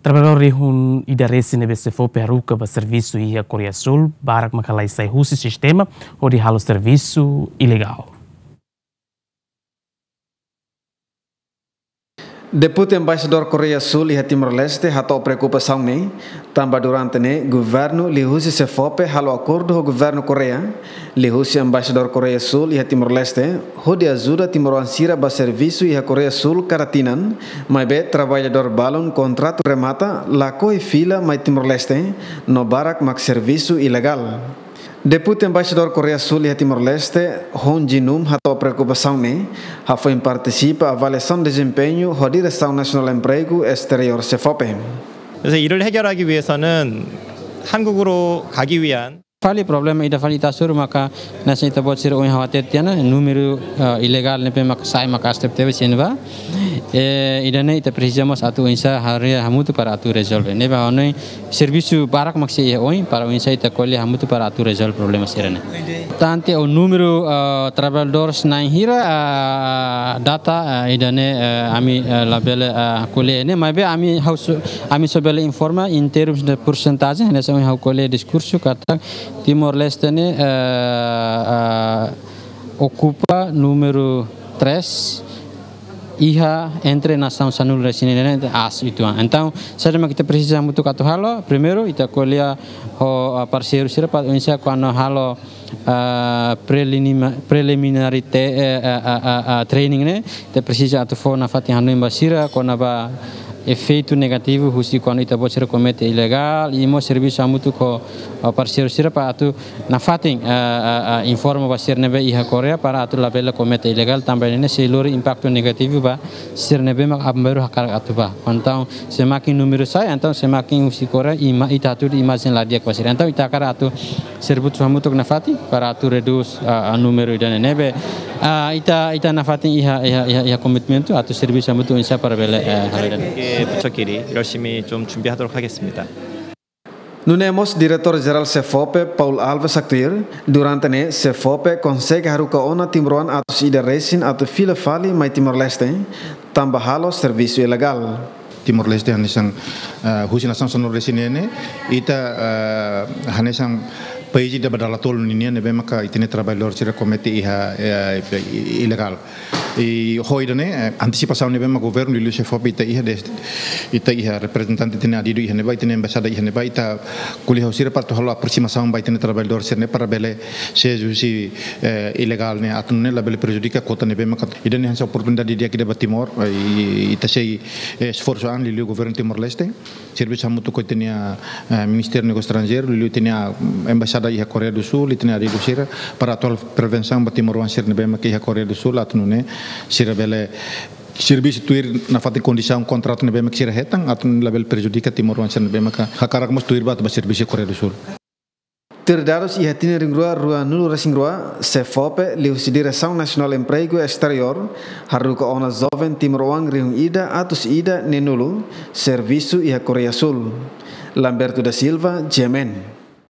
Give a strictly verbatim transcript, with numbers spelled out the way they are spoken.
Traballadór rihun ida resin ne'ebé SEFOPE haruka ba servisu iha Koreia Súl, barak maka la sai husi sistema, hodi halo servisu ilegál. Deputi Embaixadór Koreia Súl iha Timor-Leste hato'o preokupasaun ne'e, tanba durante ne'e governu liuhusi SEFOPE halo akordu ho governu Koreia, liuhusi Embaixadór Koreia Súl iha Timor-Leste, hodi ajuda timoroan sira ba servisu iha Koreia Súl kada tinan, maibé traballadór balun kontratu remata, lakohi fila mai Timor-Leste, no barak mak servisu ilegál. Deputi Embaixadór Koreia Súl iha Timor-Leste, Hon Jin-um, hato'o preokupasaun ne'e, hafoin partisipa avaliasaun dezempeñu ho Diresaun Nasionál Empregu Esteriór, SEFOPE. 그래서 이를 해결하기 위해서는 한국으로 가기 위한 Fali problema ida fali ita hasoru maka hanesan ita-boot sira ohin ha'u hatete tiha ona, númeru, eh, ilegál ne'ebé maka sai maka aas tebetebes iha ne'ebá. Eh, ida-ne'e ita presiza mós atu oinsá haree hamutuk para atu rezolve. Ne'ebé ha'u hanoin servisu barak mak sei iha oin, para oinsá ita ko'alia hamutuk para atu rezolve problema sira-ne'e. Tante o númeru, eh, traballadores na'in hira, eh, data, eh, ida-ne'e, eh, ami, eh, labele, eh, ko'alia ne'e, maibé ami ha'u só, ami só bele informa em termos de porcentagem, hanesan ohin ha'u ko'alia diskursu katak Timor-Leste ne'e, eh, eh, okupa númeru três, iha entre nasaun sanulu-resin-neen ne'e aas uitoan. Entaun, saida mak ita presiza hamutuk atu halo, primeiru, ita ko'alia ho, ah, parseiru sira para oinsá kuandu halo, ah, prelinima-, preliminary te-, eh, eh, eh, eh, eh, training ne'e, ita presiza atu fó nafatin hanoin ba sira, kona-ba efeitu negativu husi kuandu ita-boot sira komete ilegál, i mós servisu hamutuk ho, ah, parseiru sira para atu nafatin, ah, ah, ah, informa ba sira ne'ebé iha Koreia para atu labele komete ilegál, tanba ne'e sei lori impaktu negativu ba sira ne'ebé mak aban-bainrua hakarak atu bá. Entaun, semakin númeru sai, entaun semakin husi Koreia, ima-, ita hatudu imajen la di'ak ba sira. Entaun, ita hakarak atu servisu hamutuk nafatin para atu redús, ah, ah, númeru ida-ne'e ne'ebé. Ah, ita, ita nafatin iha, iha, iha, iha komitmentu atu servisu hamutuk oinsá para bele, eh, halo ida-ne'e. 예, 부처끼리 열심히 좀 준비하도록 하겠습니다. Nune'e mós Diretór Jerál SEFOPE, Paul Alves haktuir, durante ne'e SEFOPE konsege haruka ona timoroan atus ida resin atu fila fali mai Timor-Leste, tanba halo servisu ilegál. Timor-Leste hanesan, eh, husi nasaun sanulu-resin-neen ne'e, ita, eh, hanesan país ida ba dala tolu ninian ne'ebé maka ita-nia traballadór sira komete iha, eh, ilegál. I ho ida-ne'e, eh, antisipasaun ne'ebé mak governu liuliu SEFOPE ita iha des-, ita iha reprezentante ita-nia adidu iha ne'ebá, ita-nia embaixada iha ne'ebá, ita ko'alia ho sira para atu halo aprosimasaun ba ita-nia traballadór sira-ne'e para bele sees husi, eh, ilegál ne'e atu nune'e labele prejudika kuota ne'ebé maka ita-nia hanesan oportunidade di'ak ida ba Timor, eh, i, ita sei, eh, esforsu an liuliu governu Timor-Leste. Servisu hamutuk ho ita-nia, eh, Ministériu Negósiu Estranjeiru, liuliu ita-nia, mm, embaixada iha Koreia do Sul, ita-nia adidu sira, para atu halo prevensaun ba timoroan sira ne'ebé maka iha Koreia do Sul, atu nune'e sira bele servisu tuir nafatin kondisaun kontratu ne'ebé maka sira hetan, atu nune'e labele prejudika timoroan sira ne'ebé maka hakarak mós tuir ba atu bá servisu iha Koreia do Sul. Tuir dadus iha tinan rihun rua ruanulu-resin-rua, SEFOPE liuhusi Diresaun Nasionál Empregu Esteriór haruka ona joven timoroan rihun ida atus ida neenulu servisu iha Koreia Sul. Lamberto da Silva, G M N.